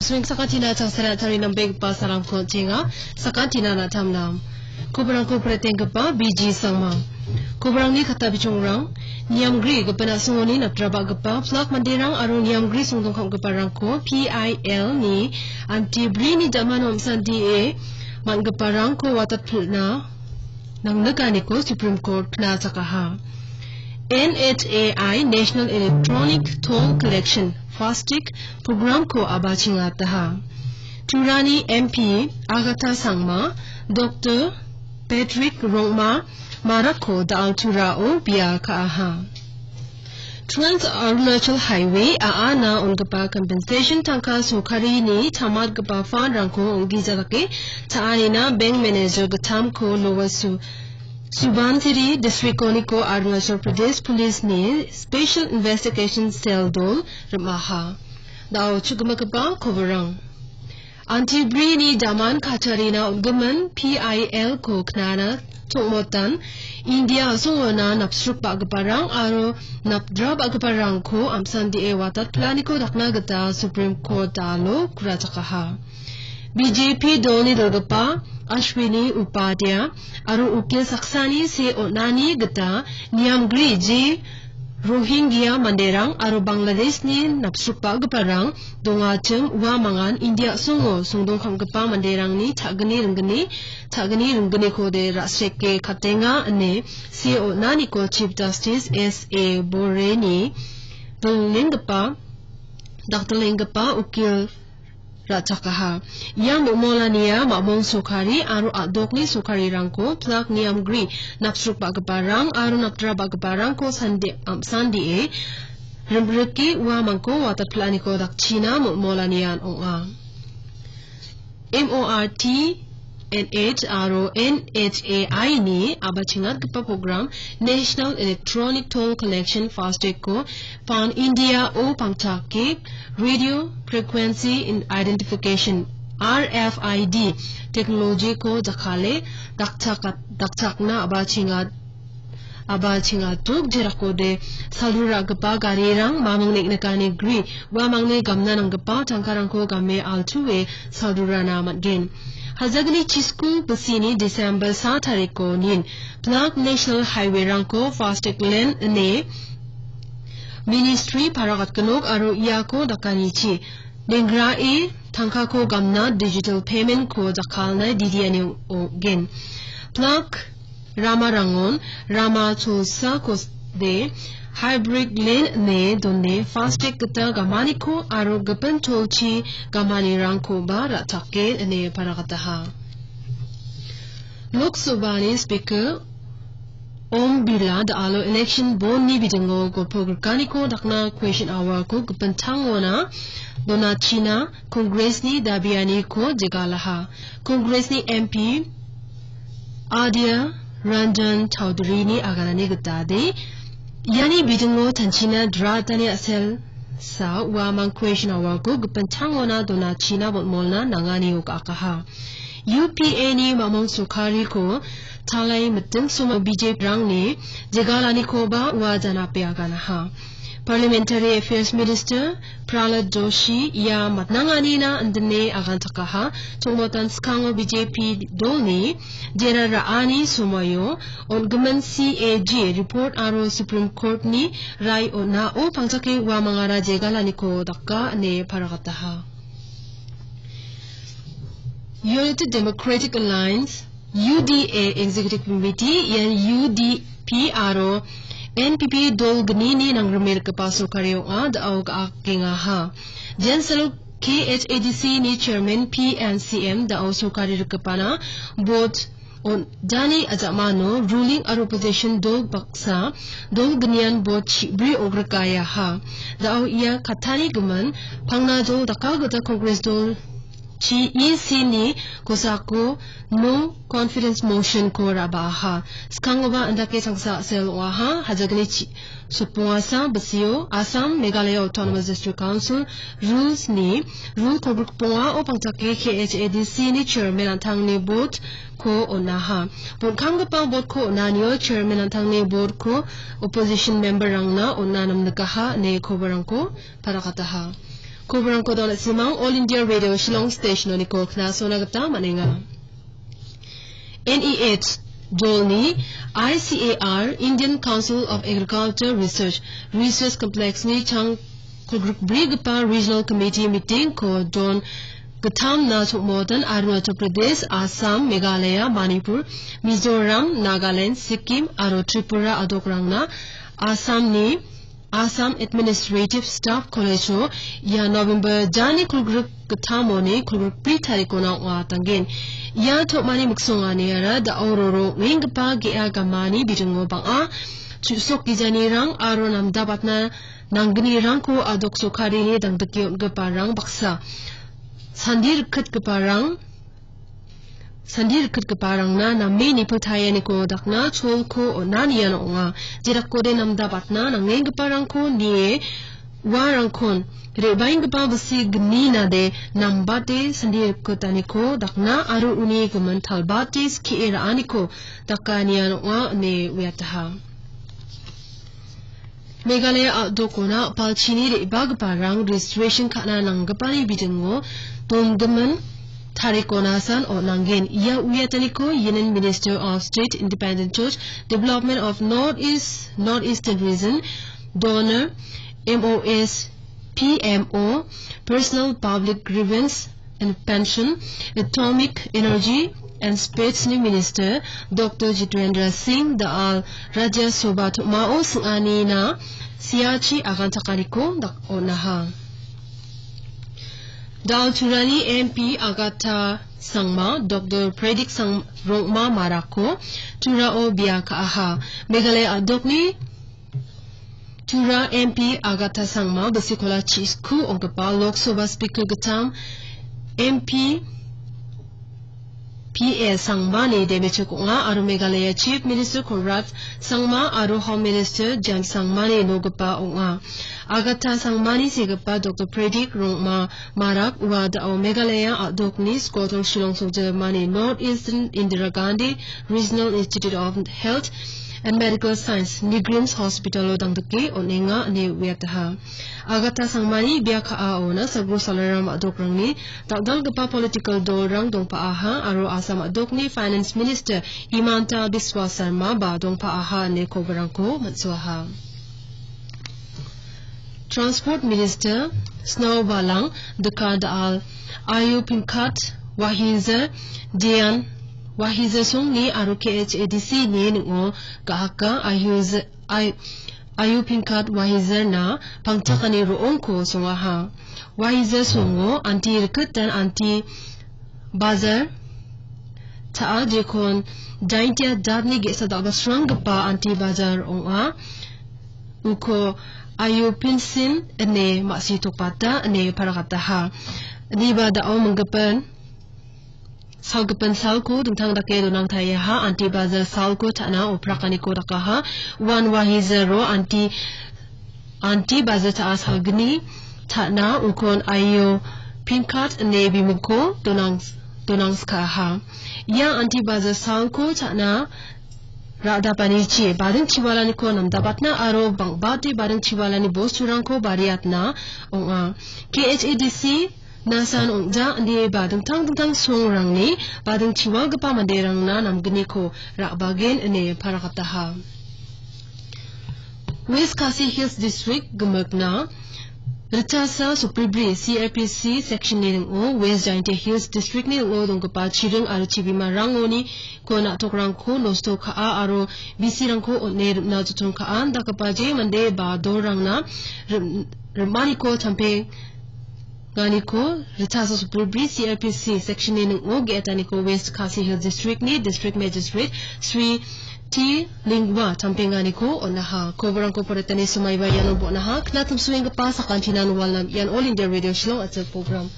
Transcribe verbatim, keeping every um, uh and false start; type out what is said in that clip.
Sueng sakatina tangsara tari nambegipa salamko tenga, sakatina natamnam. Koborangko pretenggipa B G Sangma. Koborangni kata bichongrang, niamgri gipin asongoni napdrabagipa plak manderang aro niamgri songdongkamgiparangko P I L ni antibrini damano amsandie man·giparangko watatpilna nangnikaniko Supreme Court knachakaha. N H A I National Electronic Toll Collection, FASTag, programko abachingataha. Turani M P Agatha Sangma, Doctor Patrick Rongma, Marako da·al Turao bia ka·aha. Trans Arunachal Highway a·ana on·gipa compensation tangka sorkarini tamatgipa fund-rangko ong·gija dake ta·anina bank manager gittamko Lower Su-, Subansiri district-oniko Arunachal Pradesh Police-ni Special Investigation Cell dol rim·aha. Da·o chu·gimagipa koborang. Antibrini daman katarina on·gimin P I L-ko knana tongmotan India a·songona napsrukbagiparang aro napdrabagiparangko amsandie watatplaniko dakna gita Supreme Court-o kurachakaha. B J P dolni dilgipa Ashwini Upadhyay aro ukil saksani se on·ani gita niamgri je Rohingya manderang aro Bangladeshni napsrukbagiparang dongachim uamangan India a·songo songdongkamgipa manderangni ta·gni ringgni, ta·gni ringgniko de ra·sreke katenga ine se on·aniko Chief Justice S A Boreni bilenggipa, dakdilenggipa ukil ra·chakaha. Ia momolania mamong sorkari aro a·dokni sorkarirangko plak niamgri napsrukbagiparang aro napdrabagiparangko sande-, am-, sandie rimrike uamangko watatplaniko dakchina momolanian ong·a. M O R T N H aro N H A I ni abachingatgipa program National Electronic Toll Collection FASTag-ko Pan India-o pangchake Radio Frequency in Identification, R F I D, technology-ko jakkale dakchak-, dakchakna abachingat-, abachingatuk jerakode saldu ra·gipa garirang mamung neng·nikani gri uamangni gamna nanggipa tangkarangko game altu·e saldurana man·gen. Hajagni chisku bisini December sa tariko nin plak National Highway-rangko FASTag lane ine Ministry paragatgenok aro iako dakanichi nengrae tangkako gamna digital payment-ko jakkalna didiani ogen. Plak ramarangon rama cholsakode hybrid lane ine done FASTag gita gamaniko aro gipin cholchi gamanirangkoba ra·chake ine paragataha. Lok Sabhani Speaker Om Birla da·alo election bond-ni bidingo golpo grikaniko dakna question hour-ko gipin tangona donachina Congress-ni dabianiko jegalaha. Congress-ni M P Adhir Ranjan Chaudhary-ni aganani gitade, iani bidingo tanchina dratani a·sel sa uamang question hour-ko gipin tangona donachina botmolna nangani ok akaha. U P A-ni mamung sorkariko talai miting somo B J P-rangni jegalanikoba ua janape aganaha. Parliamentary Affairs Minister Prahlad Joshi ia matnanganina indine agantakaha. Tongmotan skango B J P dolni jera ra·ani somoio on·gimin C A G report aro Supreme Court-ni rai on·ao pangchake uamangara jegalaniko daka ine paragataha. United Democratic Alliance, U D A Executive Committee ian U D P aro N P P dol gnini nangrimerikgipa sorkari ong·a, da·o ga·akengaha. Jensalo K H A D C ni chairman P N C M da·o sorkari rikgipana bot on-, jani a·jamano ruling aro opposition dol baksa, dol gnian bot chibri ogrikayaha. Da·o ia katani gimin pangna dol daka gita Congress dol chi E C ni kosako no confidence motion-ko ra·baaha. Skangoba indake changsa a·sel ong·aha. Hajagni chi-, sopongasa bisio Assam Meghalaya Autonomous District Council rules-ni rule kolgrikbongao pangchake K H A D C ni chairman an·tangni vote-ko on·aha. Bon·kamgipa vote-ko on·anio chairman an·tangni vote-ko opposition member-rangna on·na namnikaha ine kobarangko parakataha. Koborangko donatsimang All India Radio Shillong Station-oniko knasona gita man·enga. N E H dolni I C A R, Indian Council of Agriculture Research, Research Complex-ni chang kolgrikbrigipa Regional Committee meeting-ko don gittamna chongmotan Arunachal Pradesh, Assam, Meghalaya, Manipur, Mizoram, Nagaland, Sikkim aro Tripura a·dokrangna Assamni Assam Administrative Staff College-o ia November jani kolgrik gittamoni kolgrikbri tarikona ong·atanggen. Ia tom·ani miksonganiara da·o roro ong·enggipa ge·a gamani bidingo bang·a chu·sok gijanirang aro namdabatna nanggnirangko a·dok sorkarini dangdike on·giparang baksa sandi rikgitgiparang Sandi rikgitgiparangna name nipiltaianiko dakna cholko on·anian ong·a. Jedakode namdabatna nangenggiparangko nie uarangkon re·baenggipa bisi gni nade nambate sandi rikgitaniko dakna aro uni gimin talbate skie ra·aniko dakanian ong·a ine uiataha. Meghalaya a·dokona a·palchini re·bagiparang registration ka·na nanggipani bidingo donggimin tarikona san on·angen. Ia uiataniko Union Minister of State Independent Church Development of North East, North Eastern Region, donor, M O S, P M O, Personal Public Grievance, and Pension, Atomic Energy and Space-ni Minister Doctor Jitendra Singh Dayal Rajya Sabha tom·ao sing·anina siachi aganchakaniko dak-, on·aha. Dayal Turani M P Agatha Sangma, Doctor Pradik Sang-, Rongma Marako Turao bia ka·aha. Meghalaya a·dokni Tura M P Agatha Sangma, bisikola chisku ong·gipa Lok Sabha Speaker gittam M P P A Sangmani demechok ong·a aro Meghalaya Chief Minister Conrad Sangma aro Home Minister James Sangmani nogipa ong·a. Agatha Sangmani segipa Doctor Pradik Rongma Marak ua da·o Meghalaya a·dokni Skotong Shillong songjemani North Eastern Indira Gandhi Regional Institute of Health and Medical Science, NEIGRIHMS Hospital-o dangdike on·enga ine uiataha. Agatha Sangmani bia ka·aona Sagro Salaram a·dokrangni dal·dalgipa political dolrang dongpa·aha aro Assam a·dokni Finance Minister Himanta Biswa Sarma ba dongpa·aha ine koborangko man·suaha. Transport Minister Sniawbhalang Dhar da·al Ayu Pingkat Wahizer Dian Wahizer songni aro K H A D C-ni ning·o ga·haka Ayu Z-, Ay-, Ayu Pingkat Wahizerna pangchakani ro·ongko songaha. Wahizer songo anti rikgitan anti Bazar ta·a jekon Jaintia jatni ge·sa dal·basranggipa anti bazar ong·a. Uko Ayu Pinsin ine ma·sitokbata ine paragataha. Niba da·o minggipin salgipin salko dingtang dake donangtaiaha. Anti bazar salko ta·na oprakaniko dakaha. Uan Wahizero anti Anti bazar ta·a salgni ta·na ukon Ayu Pingkat ine bimingko donangs-, donangskaha. Ia anti bazar salko ta·na ra·dapanichi bading chiwalaniko namdabatna aro bang·bate bading chiwalani bosturangko bariatna ong·a. K H A D C nasan ong·ja ine ba dingtang dingtang songrangni bading chiwalgipa manderangna namgniko ra·bagen ine paragataha. West Khasi Hills District gimikna Ritchasa Supribri C R P C section-ni ning·o West Jaintia Hills District-ni ning·o donggipa chiring aro chibimarangoni ko na·tokrangko nosto ka·a aro bisirangko on·e rim·na joton ka·a dakgipa je mande ba dolrangna rim-, rim·aniko champe nganiko Ritchasa Supribri C R P C section-ni ning·o ge·etaniko West Khasi Hills District-ni District Magistrate Sri T Lingwa champenganiko on·aha. Koborangko poretani somaiba iano bon·aha. Knatimsuenggipa sakantinan walam ian All India Radio Shillong a·chik program.